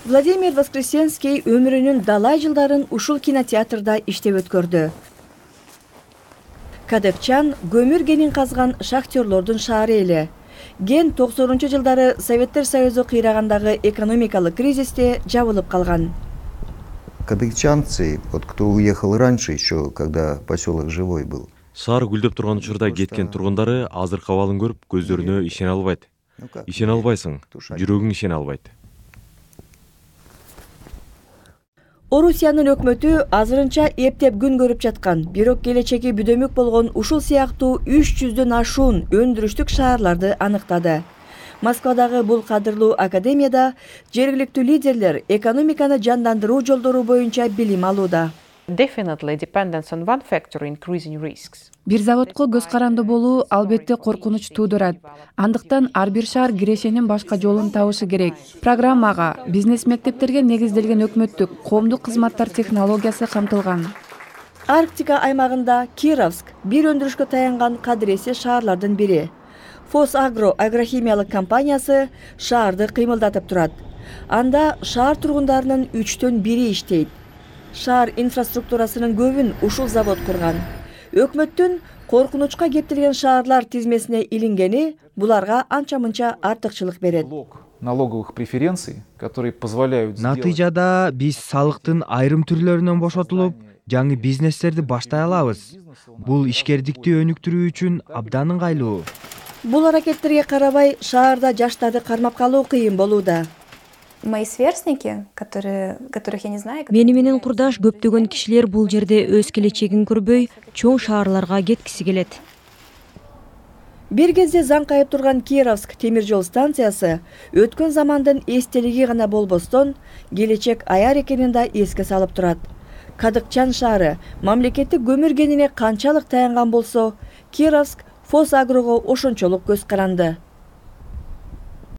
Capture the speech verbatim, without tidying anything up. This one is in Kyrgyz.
Владимир Воскресенский өмүрүнүн далай жылдарын ушул кинотеатрда иштеп өткөрдү. Кадыкчан көмүр кенин казган шахтерлордун шаары эле. Ген токсонунчу жылдары Советтер Союзу кыйрагандагы экономикалык кризисте жабылып калган. Кадыкчанцы, вот кто уехал раньше еще, когда поселок живой был. Шаар гүлдөп турган учурда кеткен тургундары азыркы абалын көрүп көздөрүнө ишене албайт. Ишене албайсың, жүрөгүң ишене албайт. Орусиянын өкмөтү азырынча эптеп күн көрүп жаткан, бирок келечеги бүдөмүк болгон ушул сыяктуу үч жүздөн ашуун өндүрүштүк шаарларды аныктады. Москвадагы бул кадырлуу академияда жергиликтүү лидерлер экономиканы жандандыруу жолдору боюнча билим алууда. Бир заводко көз каранды болуу албетте коркунуч туудурат. Андыктан ар бир шаар кирешенин башка жолун табышы керек. Программага бизнес мектептерге негизделген өкмөттүк коомдук кызматтар технологиясы камтылган. Арктика аймагында Кировск бир өндүрүшкө таянган кадыресе шаарлардын бири. Фосагро агрохимиялык компаниясы шаарды кыймылдатып турат. Анда шаар тургундарынын үчтөн бири иштейт. Шаар инфраструктурасынын көбүн ушул завод курган. Өкмөттүн коркунучка кептелген шаарлар тизмесине илингени буларга анча-мынча артыкчылык берет. Налоговых преференций, которые позволяют Натыйжада биз салыктын айрым түрлөрүнөн бошотулуп, жаңы бизнестерди баштай алабыз. Бул ишкердикти өнүктүрүү үчүн абдан ыңгайлуу. Бул аракеттерге карабай шаарда жаштарды кармап калуу кыйын болууда. Мои сверстники, которые, которых я не знаю. Мени менен курдаш көптөгөн кишилер бул жерде өз келечегин көрбөй, чоң шаарларга кеткиси келет. Бир кезде заң кайып турган Кировск темир жол станциясы өткөн замандын эстелиги гана болбостон, келечек аяр экенин да эске салып турат. Кадыкчан шаары мамлекеттик көмүр кенине канчалык таянган болсо, Кировск Фосагрого ошончолук көз каранды.